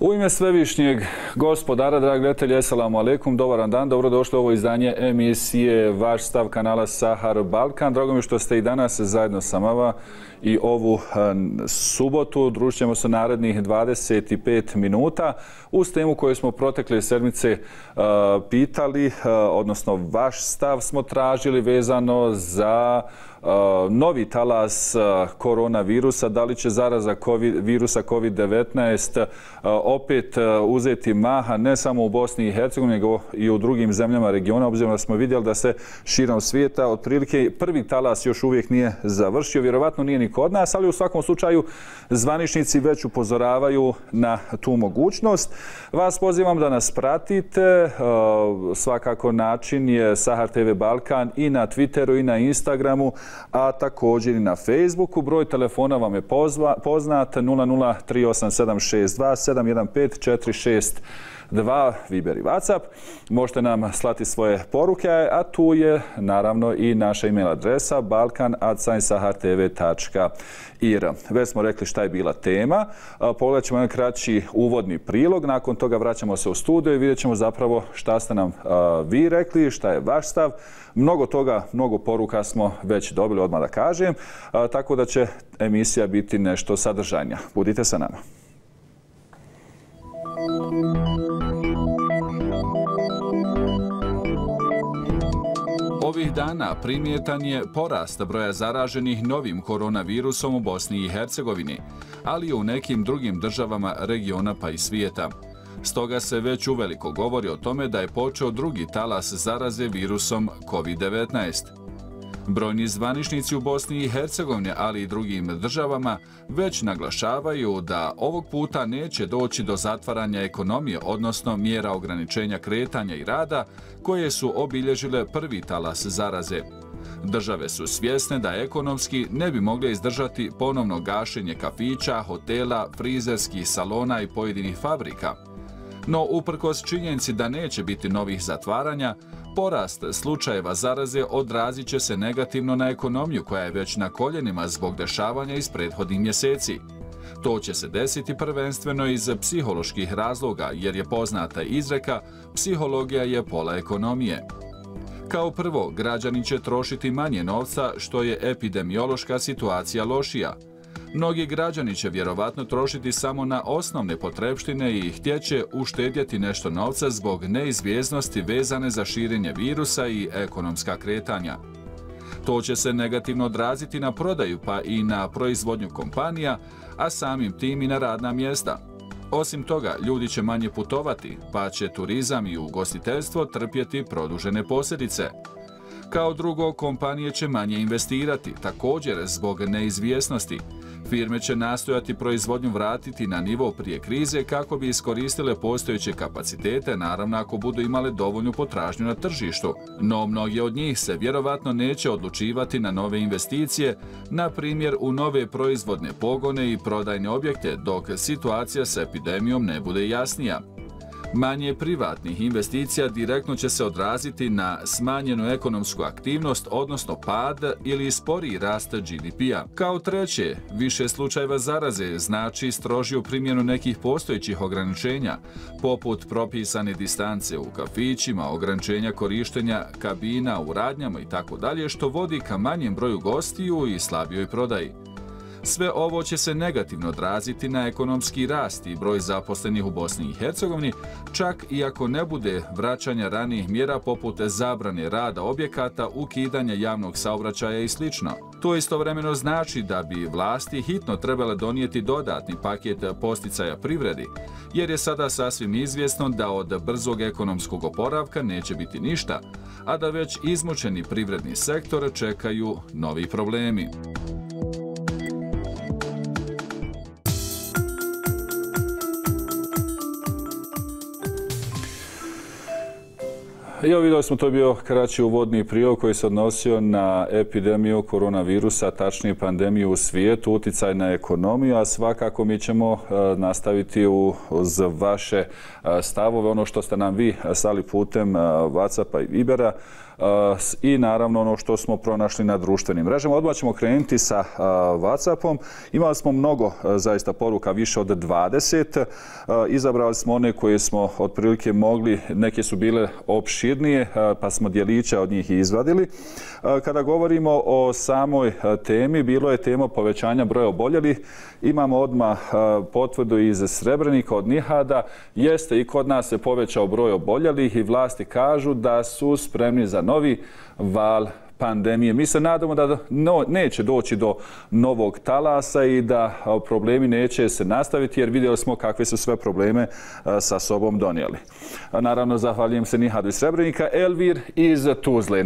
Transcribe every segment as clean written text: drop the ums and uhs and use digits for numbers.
U ime Svevišnjeg gospodara, dragi gledatelji, assalamu alaikum, dobar dan, dobrodošli u ovo izdanje emisije Vaš stav kanala Sahar Balkan. Drago mi što ste i danas zajedno sa nama i ovu subotu. Družit ćemo se narednih 25 minuta uz temu koju smo protekle sedmice pitali, odnosno vaš stav smo tražili vezano za novi talas koronavirusa. Da li će zaraza virusa COVID-19 opet uzeti maha ne samo u Bosni i Hercegovini, nego i u drugim zemljama regiona, obzirom da smo vidjeli da se širom svijeta otprilike prvi talas još uvijek nije završio. Vjerovatno nije ni kod nas, ali u svakom slučaju zvaničnici već upozoravaju na tu mogućnost. Vas pozivam da nas pratite. Svakako način je Sahar TV Balkan i na Twitteru i na Instagramu, a također i na Facebooku. Broj telefona vam je poznat 0038762715 462, Viber i WhatsApp. Možete nam slati svoje poruke, a tu je naravno i naša email adresa balkan@sahartv.ir. Već smo rekli šta je bila tema. Pogledat ćemo jedan kraći uvodni prilog. Nakon toga vraćamo se u studio i vidjet ćemo zapravo šta ste nam vi rekli, šta je vaš stav. Mnogo toga, mnogo poruka smo već dobili, odmah da kažem, tako da će emisija biti nešto sadržajnija. Budite sa nama. Ovih dana primjetan je porast broja zaraženih novim koronavirusom u Bosni i Hercegovini, ali i u nekim drugim državama regiona pa i svijeta. Stoga se već uveliko govori o tome da je počeo drugi talas zaraze virusom COVID-19. Brojni zvaničnici u Bosni i Hercegovini, ali i drugim državama, već naglašavaju da ovog puta neće doći do zatvaranja ekonomije, odnosno mjera ograničenja kretanja i rada, koje su obilježile prvi talas zaraze. Države su svjesne da ekonomski ne bi mogle izdržati ponovno gašenje kafića, hotela, frizerskih salona i pojedinih fabrika. No, uprkos činjenici da neće biti novih zatvaranja, porast slučajeva zaraze odrazit će se negativno na ekonomiju koja je već na koljenima zbog dešavanja iz prethodnih mjeseci. To će se desiti prvenstveno iz psiholoških razloga, jer je poznata izreka psihologija je pola ekonomije. Kao prvo, građani će trošiti manje novca, što je epidemiološka situacija lošija. Mnogi građani će vjerovatno trošiti samo na osnovne potrepštine i htjeće uštedjeti nešto novca zbog neizvjesnosti vezane za širenje virusa i ekonomska kretanja. To će se negativno odraziti na prodaju pa i na proizvodnju kompanija, a samim tim i na radna mjesta. Osim toga, ljudi će manje putovati, pa će turizam i ugostiteljstvo trpjeti produžene posljedice. Kao drugo, kompanije će manje investirati, također zbog neizvjesnosti. Firme će nastojati proizvodnju vratiti na nivo prije krize kako bi iskoristile postojeće kapacitete, naravno ako budu imale dovoljnu potražnju na tržištu. No mnogi od njih se vjerovatno neće odlučivati na nove investicije, na primjer u nove proizvodne pogone i prodajne objekte, dok situacija s epidemijom ne bude jasnija. Manje privatnih investicija direktno će se odraziti na smanjenu ekonomsku aktivnost, odnosno pad ili sporiji rast GDP-a. Kao treće, više slučajeva zaraze znači strožiju primjenu nekih postojećih ograničenja, poput propisane distance u kafićima, ograničenja korištenja kabina u radnjama itd., što vodi ka manjem broju gostiju i slabijoj prodaji. Sve ovo će se negativno odraziti na ekonomski rast i broj zaposlenih u Bosni i Hercegovini, čak i ako ne bude vraćanja ranijih mjera poput zabrane rada objekata, ukidanja javnog saobraćaja i sl. To istovremeno znači da bi vlasti hitno trebale donijeti dodatni paket posticaja privredi, jer je sada sasvim izvjesno da od brzog ekonomskog oporavka neće biti ništa, a da već izmučeni privredni sektor čekaju novi problemi. Evo vidjeli smo, to je bio kraći uvodni prilog koji se odnosio na epidemiju koronavirusa, tačnije pandemiju u svijetu, utjecaj na ekonomiju, a svakako mi ćemo nastaviti uz vaše stavove, ono što ste nam vi slali putem WhatsAppa i Vibera. i naravno ono što smo pronašli na društvenim mrežama. Odmah ćemo krenuti sa WhatsAppom. Imali smo mnogo zaista poruka, više od 20. Izabrali smo one koje smo otprilike mogli, neke su bile opširnije, pa smo djeliće od njih izvadili. Kada govorimo o samoj temi, bilo je tema povećanja broja oboljelih. Imamo odmah potvrdu iz Srebrenika od Nihada. Jeste, i kod nas se povećao broj oboljelih i vlasti kažu da su spremni za novi val pandemije. Mi se nadamo da neće doći do novog talasa i da problemi neće se nastaviti, jer vidjeli smo kakve su sve probleme sa sobom donijeli. Naravno, zahvaljujem se Nihadu iz Srebrenika. Elvir iz Tuzle,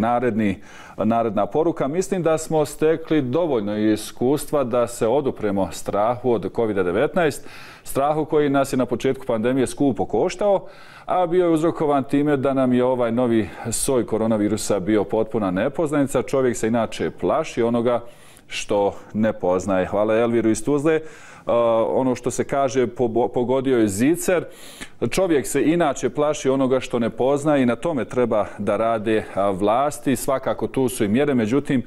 naredna poruka. Mislim da smo stekli dovoljno iskustva da se odupremo strahu od COVID-19, strahu koji nas je na početku pandemije skupo koštao, a bio je uzrokovan time da nam je ovaj novi soj koronavirusa bio potpuna nepoznanica. Čovjek se inače plaši onoga što ne poznaje. Hvala Elviru iz Tuzle. Ono što se kaže, pogodio je zicer. Čovjek se inače plaši onoga što ne poznaje i na tome treba da rade vlasti. Svakako tu su i mjere, međutim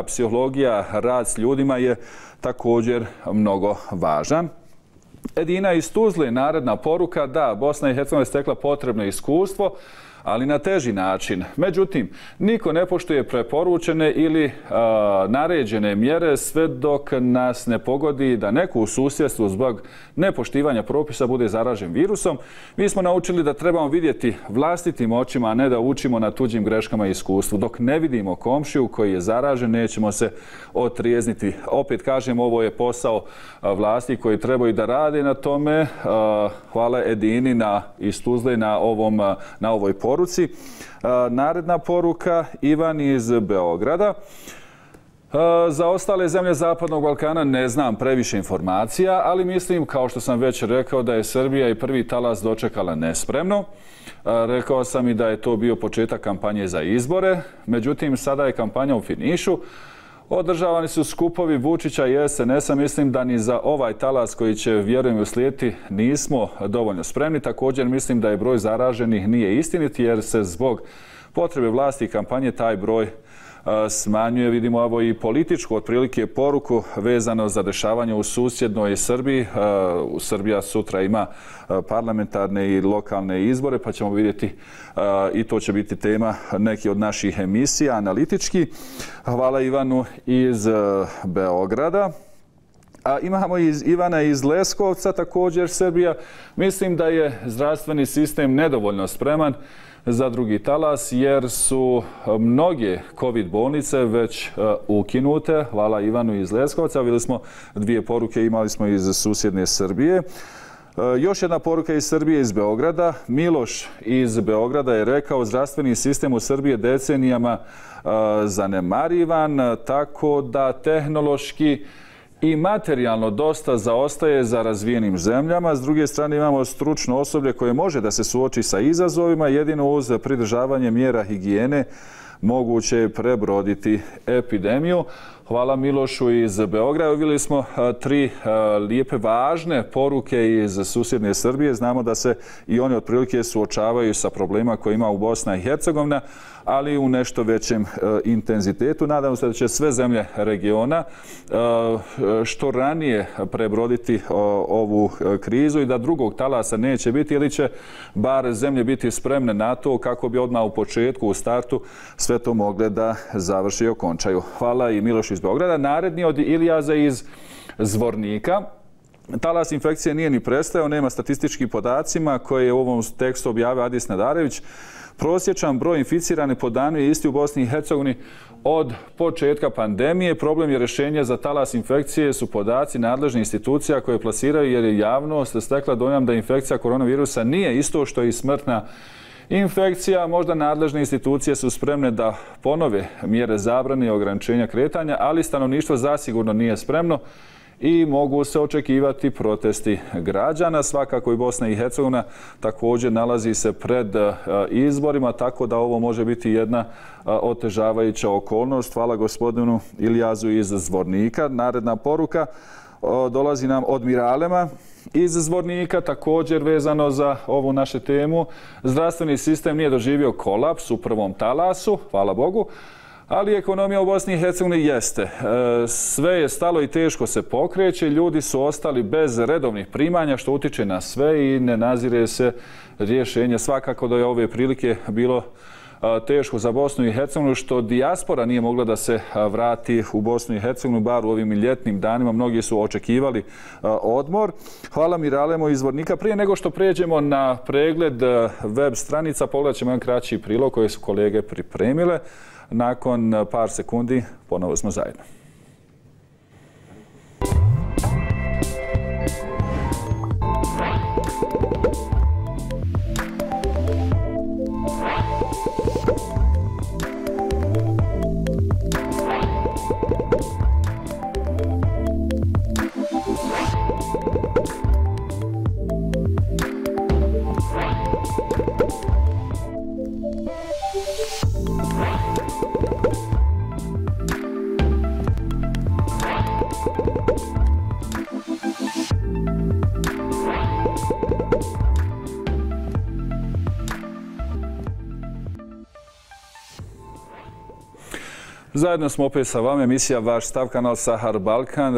psihologija, rad s ljudima je također mnogo važan. Edina iz Tuzle, naredna poruka, da, Bosna i Hercegovina je stekla potrebno iskustvo, ali na teži način. Međutim, niko ne poštuje preporučene ili naređene mjere sve dok nas ne pogodi da neko u susjedstvu zbog nepoštivanja propisa bude zaražen virusom. Mi smo naučili da trebamo vidjeti vlastitim očima, a ne da učimo na tuđim greškama i iskustvu. Dok ne vidimo komšiju koji je zaražen, nećemo se otrijezniti. Opet kažem, ovo je posao vlasti koji trebaju da rade na tome. Hvala Edini iz Tuzle na ovoj poruci. Naredna poruka, Ivan iz Beograda. Za ostale zemlje Zapadnog Balkana ne znam previše informacija, ali mislim, kao što sam već rekao, da je Srbija i prvi talas dočekala nespremno. Rekao sam i da je to bio početak kampanje za izbore, međutim sada je kampanja u finišu. Održavani su skupovi Vučića i SNS-a. Mislim da ni za ovaj talas koji će, vjerujem, uslijediti nismo dovoljno spremni. Također mislim da je broj zaraženih nije istinit, jer se zbog potrebe vlasti i kampanje taj broj smanjuje. Vidimo ovo i političku otprilike poruku vezano za dešavanje u susjednoj Srbiji. Srbija sutra ima parlamentarne i lokalne izbore, pa ćemo vidjeti i to će biti tema neki od naših emisija analitički. Hvala Ivanu iz Beograda. A imamo Ivana iz Leskovca, također Srbija. Mislim da je zdravstveni sistem nedovoljno spreman za drugi talas, jer su mnoge COVID bolnice već ukinute. Hvala Ivanu iz Leskovca. Vidjeli smo dvije poruke, imali smo iz susjedne Srbije. Još jedna poruka iz Srbije, iz Beograda. Miloš iz Beograda je rekao: zdravstveni sistem u Srbiji je decenijama zanemarivan, tako da tehnološki i materijalno dosta zaostaje za razvijenim zemljama. S druge strane imamo stručno osoblje koje može da se suoči sa izazovima. Jedino uz pridržavanje mjera higijene moguće je prebroditi epidemiju. Hvala Milošu iz Beograda. Vidjeli smo tri lijepe, važne poruke iz susjedne Srbije. Znamo da se i oni otprilike suočavaju sa problema koje ima u Bosna i Hercegovina, ali u nešto većem intenzitetu. Nadamo se da će sve zemlje regiona što ranije prebroditi ovu krizu i da drugog talasa neće biti, ili će bar zemlje biti spremne na to kako bi odmah u početku, u startu, sve to mogle da završi i okončaju. Hvala i Milošu iz Beograda. Naredni od Ilijaza iz Zvornika. Talas infekcije nije ni prestajao, nema statističkih podacima koje je u ovom tekstu objavio Adis Nadarević. Prosječan broj inficiranih po danu je isti u Bosni i Hercegovini od početka pandemije. Problem je rješenje za talas infekcije su podaci nadležnih institucija koje plasiraju, jer je javnost stekla dojam da infekcija koronavirusa nije isto što i smrtna infekcija. Možda nadležne institucije su spremne da ponove mjere zabrane i ograničenja kretanja, ali stanovništvo zasigurno nije spremno i mogu se očekivati protesti građana. Svakako i Bosna i Hercegovina također nalazi se pred izborima, tako da ovo može biti jedna otežavajuća okolnost. Hvala gospodinu Ilijazu iz Zvornika. Naredna poruka. dolazi nam od Miralema iz Zvornika, također vezano za ovu našu temu. Zdravstveni sistem nije doživio kolaps u prvom talasu, hvala Bogu, ali ekonomija u Bosni i Hercegovini jeste. Sve je stalo i teško se pokreće, ljudi su ostali bez redovnih primanja, što utiče na sve i ne nazire se rješenje. Svakako da je ove prilike bilo teško za Bosnu i Hercegovinu, što dijaspora nije mogla da se vrati u Bosnu i Hercegovinu, bar u ovim ljetnim danima. Mnogi su očekivali odmor. Hvala Miralemo iz Zvornika. Prije nego što pređemo na pregled web stranica, pogledat ćemo jedan kraći prilog koje su kolege pripremile. Nakon par sekundi ponovo smo zajedno. Zajedno smo opet sa vama, emisija Vaš stav, kanal Sahar Balkan.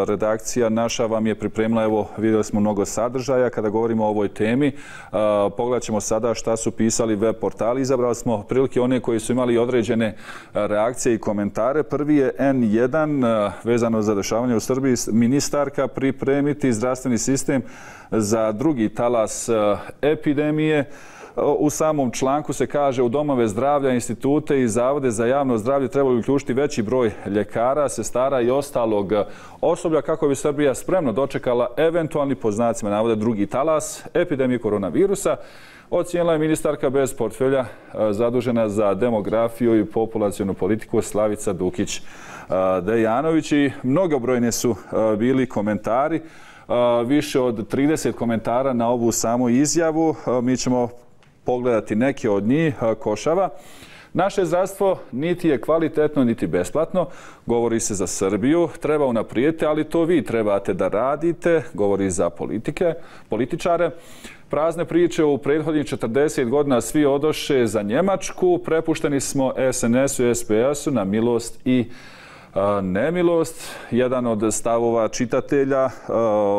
Redakcija naša vam je pripremila, evo vidjeli smo mnogo sadržaja kada govorimo o ovoj temi. Pogledat ćemo sada šta su pisali web portali. Izabrali smo prilike one koji su imali određene reakcije i komentare. Prvi je N1 vezano za dešavanje u Srbiji. Ministarka pripremiti zdravstveni sistem za drugi talas epidemije. U samom članku se kaže u domove zdravlja, institute i zavode za javno zdravlje trebali uključiti veći broj ljekara, sestara i ostalog osoblja kako bi Srbija spremno dočekala eventualni, po znacima navoda, drugi talas epidemije koronavirusa. Ocijenila je ministarka bez portfelja zadužena za demografiju i populacionu politiku Slavica Dukić-Dejanović. I mnogobrojni su bili komentari, više od 30 komentara na ovu samu izjavu. Mi ćemo pogledati neke od njih. Košava. Naše zdravstvo niti je kvalitetno, niti besplatno. Govori se za Srbiju. Treba unaprijediti, ali to vi trebate da radite. Govori za političare. Prazne priče u prethodnih 40 godina svi odoše za Njemačku. Prepušteni smo SNS-u i SPS-u na milost i nemilost. Jedan od stavova čitatelja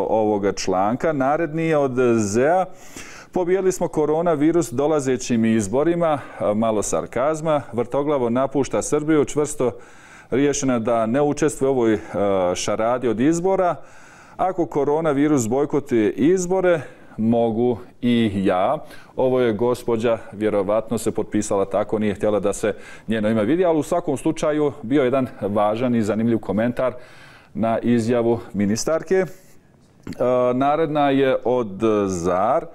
ovoga članka. Naredni je od ZEA. Pobijedili smo koronavirus dolazećim izborima, malo sarkazma. Vrtoglavo napušta Srbiju, čvrsto riješena da ne učestvuje u ovoj šaradi od izbora. Ako koronavirus bojkotuje izbore, mogu i ja. Ovo je gospođa, vjerovatno se potpisala tako, nije htjela da se njeno ime vidi, ali u svakom slučaju bio jedan važan i zanimljiv komentar na izjavu ministarke. Naredna je od ZAR.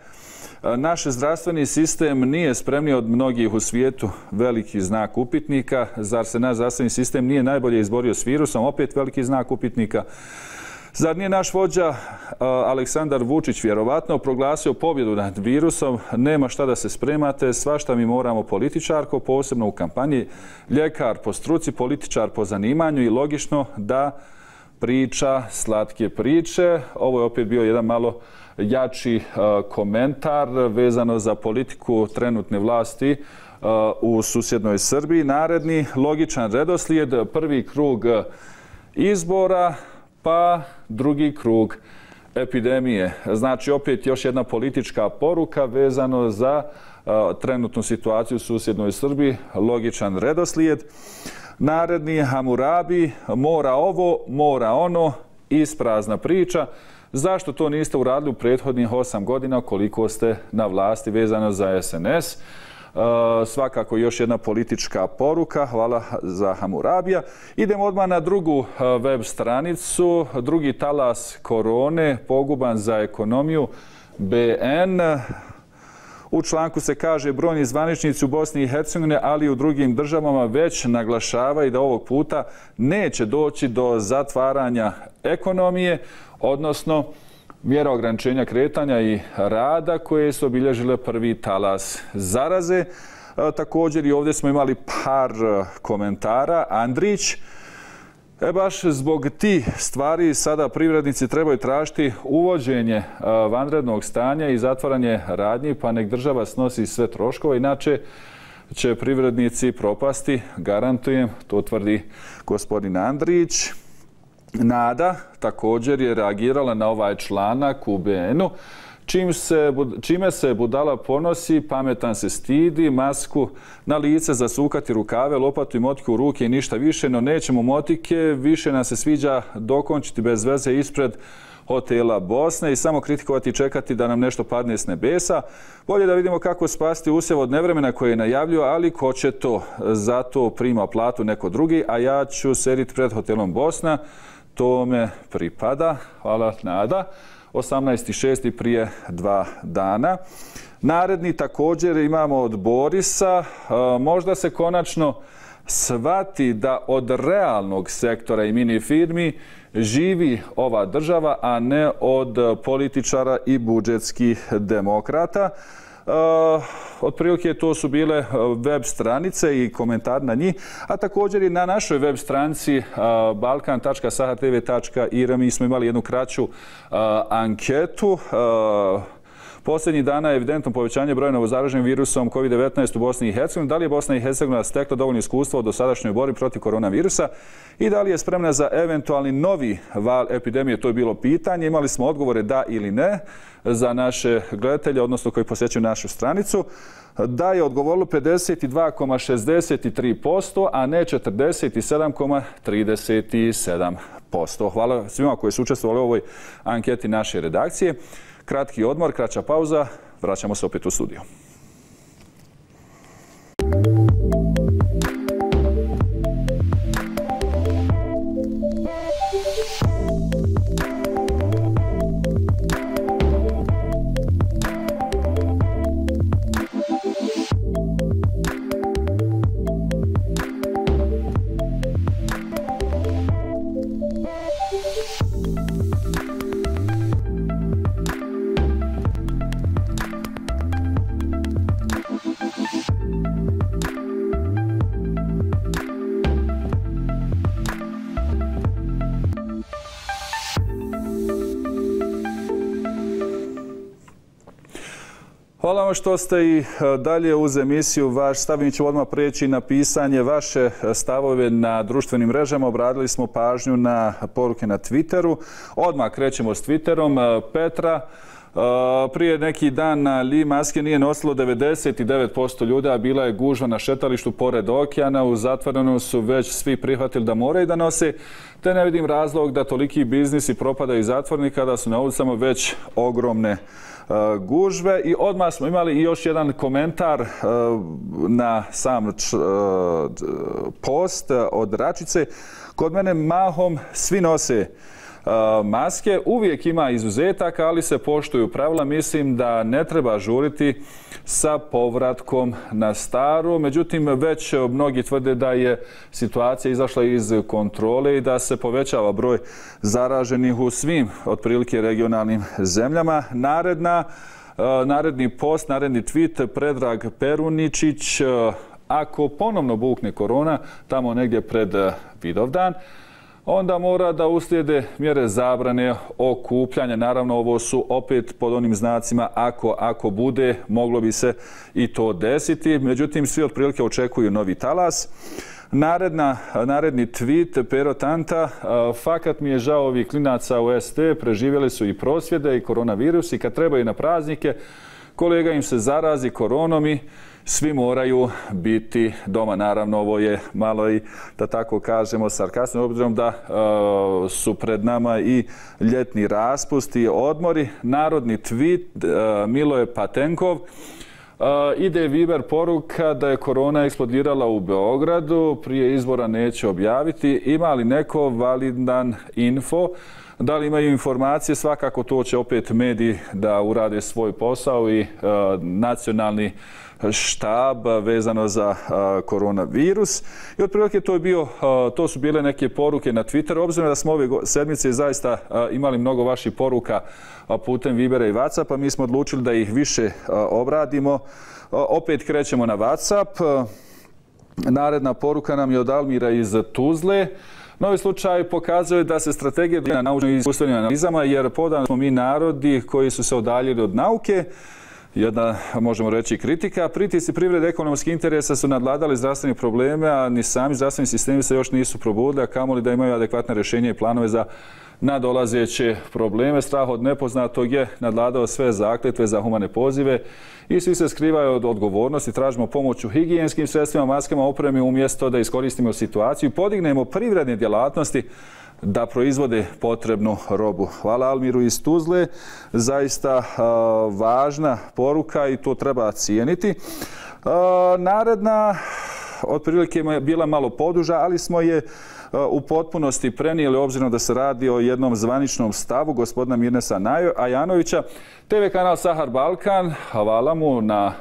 Naš zdravstveni sistem nije spremniji od mnogih u svijetu, veliki znak upitnika. Zar se naš zdravstveni sistem nije najbolje izborio s virusom? Opet veliki znak upitnika. Zar nije naš vođa Aleksandar Vučić vjerovatno proglasio pobjedu nad virusom? Nema šta da se spremate, svašta mi moramo. Političarko, posebno u kampanji, ljekar po struci, političar po zanimanju i logično da priča slatke priče. Ovo je opet bio jedan malo jači komentar vezano za politiku trenutne vlasti u susjednoj Srbiji. Naredni logičan redoslijed, prvi krug izbora, pa drugi krug epidemije. Znači opet još jedna politička poruka vezano za trenutnu situaciju u susjednoj Srbiji, logičan redoslijed. Naredni Hamurabi, mora ovo, mora ono, isprazna priča. Zašto to niste uradili u prethodnih 8 godina koliko ste na vlasti vezano za SNS? Svakako još jedna politička poruka. Hvala za Hamurabija. Idemo odmah na drugu web stranicu. Drugi talas korone, poguban za ekonomiju. BN. U članku se kaže brojni zvaničnici u Bosni i Hercegovini, ali i u drugim državama već naglašavaju da ovog puta neće doći do zatvaranja ekonomije, odnosno mjera ograničenja kretanja i rada koje su obilježile prvi talas zaraze. Također i ovdje smo imali par komentara. Andrić. Baš zbog tih stvari sada privrednici trebaju tražiti uvođenje vanrednog stanja i zatvaranje radnji, pa nek država snosi sve troškove, inače će privrednici propasti, garantujem, to tvrdi gospodin Andrić. Nada također je reagirala na ovaj članak u BN-u. Čime se budala ponosi, pametan se stidi, masku na lice, zasukati rukave, lopatu i motiku u ruke i ništa više, no nećemo motike, više nam se sviđa dokončiti bez veze ispred hotela Bosne i samo kritikovati i čekati da nam nešto padne s nebesa. Bolje da vidimo kako spasti usjev od nevremena koje je najavljuju, ali ko će to? Zato prima platu neko drugi, a ja ću sediti pred hotelom Bosna. To me pripada. Hvala, Nada. 18.6. prije 2 dana. Naredni također imamo od Borisa. Možda se konačno shvati da od realnog sektora i mini firmi živi ova država, a ne od političara i budžetskih demokrata. Otprilike to su bile web stranice i komentar na njih, a također i na našoj web stranici balkan.sahatv.ir mi smo imali jednu kraću anketu. Posljednjih dana je evidentno povećanje broja novozaraženih virusom COVID-19 u Bosni i Hercegovini. Da li je Bosna i Hercegovina stekla dovoljno iskustva u dosadašnjoj borbi protiv koronavirusa i da li je spremna za eventualni novi val epidemije? To je bilo pitanje. Imali smo odgovore da ili ne za naše gledatelje, odnosno koji posjećuju našu stranicu. Da je odgovorilo 52,63%, a ne 47,37%. Hvala svima koji su učestvovali u ovoj anketi naše redakcije. Kratki odmor, kraća pauza, vraćamo se opet u studio. Hvala vam što ste i dalje uz emisiju Vaš stav. Mi ćemo odmah preći na pisanje vaše stavove na društvenim mrežama. Obradili smo pažnju na poruke na Twitteru. Odmah krećemo s Twitterom. Petra, prije neki dan na Li maske nije nosilo 99% ljudi, a bila je gužva na šetalištu pored okeana. U zatvorenom su već svi prihvatili da moraju da nose, te ne vidim razlog da toliki biznisi propadaju iz zatvoreni kada su na ulicama već ogromne gužve. I odmah smo imali i još jedan komentar na sam post od Račice. Kod mene mahom svi nose maske, uvijek ima izuzetaka, ali se poštuju pravila. Mislim da ne treba žuriti sa povratkom na staro. Međutim, već mnogi tvrde da je situacija izašla iz kontrole i da se povećava broj zaraženih u svim otprilike regionalnim zemljama. Naredni post, naredni tweet, Predrag Peruničić, ako ponovno bukne korona tamo negdje pred Vidovdan, onda mora da uslijede mjere zabrane okupljanja. Naravno, ovo su opet pod onim znacima ako bude, moglo bi se i to desiti. Međutim, svi otprilike očekuju novi talas. Naredni tweet, Pero Tanta, fakat mi je žao ovih klinaca u ST, preživjeli su i prosvjede i koronavirus i kad trebaju na praznike, kolega im se zarazi koronom i svi moraju biti doma. Naravno, ovo je malo i, da tako kažemo, sarkastično, obzirom da su pred nama i ljetni raspusti i odmori. Narodni tweet, Miloje Patenkov, ide Viber poruka da je korona eksplodirala u Beogradu, prije izbora neće objaviti. Ima li neko validan info? Da li imaju informacije? Svakako to će opet mediji da urade svoj posao i nacionalni štab vezano za koronavirus. I otprilike to su bile neke poruke na Twitteru. Obzirom da smo ove sedmice zaista imali mnogo vaših poruka putem Vibera i Whatsappa, mi smo odlučili da ih više obradimo. Opet krećemo na Whatsapp. Naredna poruka nam je od Almira iz Tuzle. Novi slučaj pokazuje da se strategija na naučnim i iskustvenim analizama, jer podano smo mi narodi koji su se odaljili od nauke. Jedna, možemo reći, kritika. Pritisci privrede ekonomskih interesa su nadvladali zdravstvene probleme, a ni sami zdravstveni sistemi se još nisu probudili, a kamoli da imaju adekvatne rješenje i planove za nadolazeće probleme. Strah od nepoznatog je nadvladao sve zakletve za humane pozive i svi se skrivaju od odgovornosti. Tražimo pomoć u higijenskim sredstvima, maskama, opremi, umjesto da iskoristimo situaciju i podignemo privredne djelatnosti da proizvode potrebnu robu. Hvala Almiru iz Tuzle. Zaista važna poruka i to treba cijeniti. Naredna otprilike je bila malo poduža, ali smo je u potpunosti prenijeli obzirom da se radi o jednom zvaničnom stavu gospodina Mirnesa Ajanovića. TV kanal Sahar Balkan, hvala mu na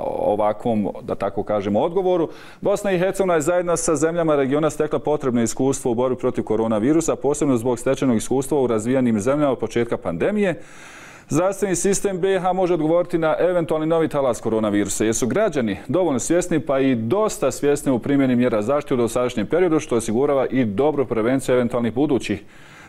ovakvom, da tako kažemo, odgovoru. Bosna i Hercegovina je zajedno sa zemljama regiona stekla potrebno iskustvo u borbi protiv koronavirusa, posebno zbog stečenog iskustva u razvijenim zemljama od početka pandemije. Zdravstveni sistem BiH može odgovoriti na eventualni novi talas koronavirusa, jer su građani dovoljno svjesni, pa i dosta svjesni u primjeni mjera zaštite u dosadašnjem periodu, što osigurava i dobru prevenciju eventualnih budućih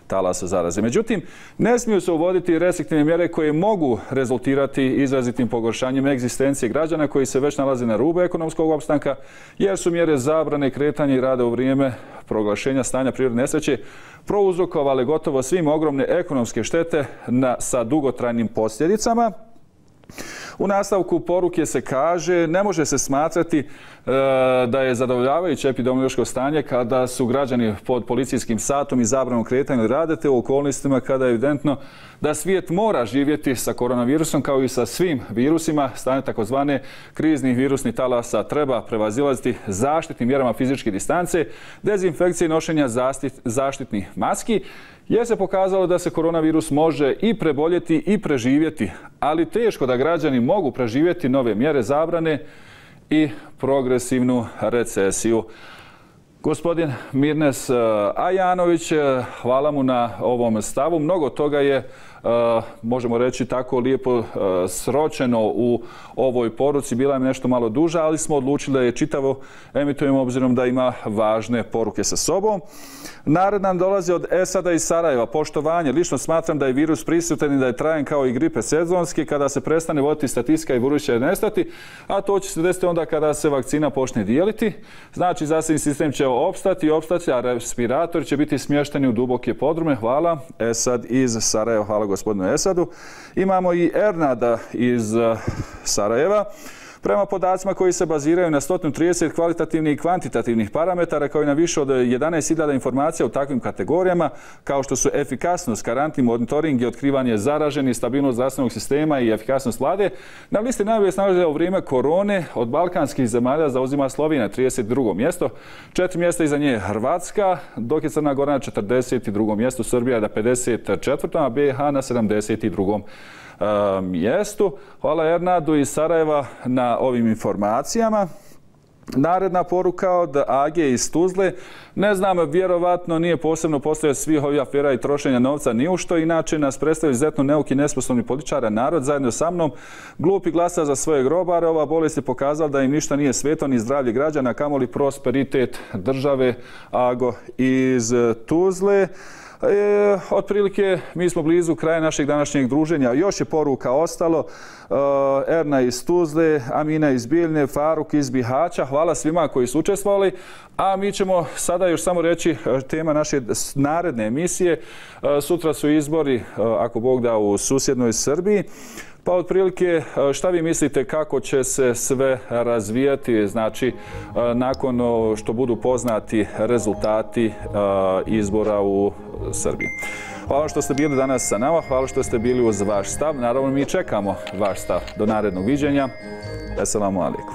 talasa zaraze. Međutim, ne smiju se uvoditi restriktivne mjere koje mogu rezultirati izrazitim pogoršanjem egzistencije građana koji se već nalaze na rubu ekonomskog opstanka, jer su mjere zabrane kretanja i rada u vrijeme proglašenja stanja prirodne nesreće prouzrokovale gotovo svim ogromne ekonomske štete sa dugotrajnim posljedicama. U nastavku poruke se kaže: ne može se smatrati da je zadovoljavajuće epidemiološko stanje kada su građani pod policijskim satom i zabranom kretanja rada, te u okolnostima kada je evidentno da svijet mora živjeti sa koronavirusom kao i sa svim virusima. Stanje takozvane kriznih virusnih talasa treba prevazilaziti zaštitnim mjerama fizičke distance, dezinfekcije i nošenja zaštitnih maski, jer se pokazalo da se koronavirus može i preboljeti i preživjeti, ali teško da građani mogu preživjeti nove mjere zabrane i progresivnu recesiju. Gospodin Mirnes Ajanović, hvala mu na ovom stavu. Mnogo toga je, možemo reći, tako lijepo sročeno u ovoj poruci. Bila je nešto malo duža, ali smo odlučili da je čitavo emitujemo obzirom da ima važne poruke sa sobom. Narod nam dolazi od Esada i Sarajeva. Poštovanje. Lično smatram da je virus prisutan i da je trajan kao i gripe sezonski. Kada se prestane voditi statistika i virus će nestati, a to će se desiti onda kada se vakcina počne dijeliti. Znači, zdravstveni sistem će opstati, a respirator će biti smješteni u duboke podrume. Hvala. Esad iz Sarajeva. Hvala gospodinu Esadu. Imamo i Ernada iz Sarajeva. Prema podacima koji se baziraju na 130 kvalitativnih i kvantitativnih parametara, kao i na više od 11.000 informacija u takvim kategorijama, kao što su efikasnost, karantin, monitoring i otkrivanje zaraženih, stabilnost zdravstvenog sistema i efikasnost vlade, na listi najbolje snalaze u vrijeme korone od balkanskih zemalja zauzima Slovenija 32. mjesto, 4 mjesta iza nje Hrvatska, dok je Crna Gora na 42. mjestu, Srbija na 54. a BiH na 72. mjestu. Hvala Ernadu iz Sarajeva na ovim informacijama. Naredna poruka od Age iz Tuzle. Ne znam, vjerovatno nije posebno postoje svih ovih afera i trošenja novca ni u što, inače nas predstavlja izuzetno neuki, nesposobni političara. Narod zajedno sa mnom glupi glasa za svoje grobare. Ova bolest je pokazala da im ništa nije sveto, ni zdravlje građana, kamoli prosperitet države. Ago iz Tuzle. Otprilike mi smo blizu kraja našeg današnjeg druženja. Još je poruka ostalo. Erna iz Tuzle, Amina iz Bijeljne, Faruk iz Bihaća. Hvala svima koji su učestvovali. A mi ćemo sada još samo reći tema naše naredne emisije. Sutra su izbori, ako Bog da, u susjednoj Srbiji. Pa otprilike šta vi mislite kako će se sve razvijati, znači nakon što budu poznati rezultati izbora u Srbiji. Hvala što ste bili danas sa nama, hvala što ste bili uz vaš stav. Naravno, mi čekamo vaš stav. Do narednog viđenja. Assalamu alaikum.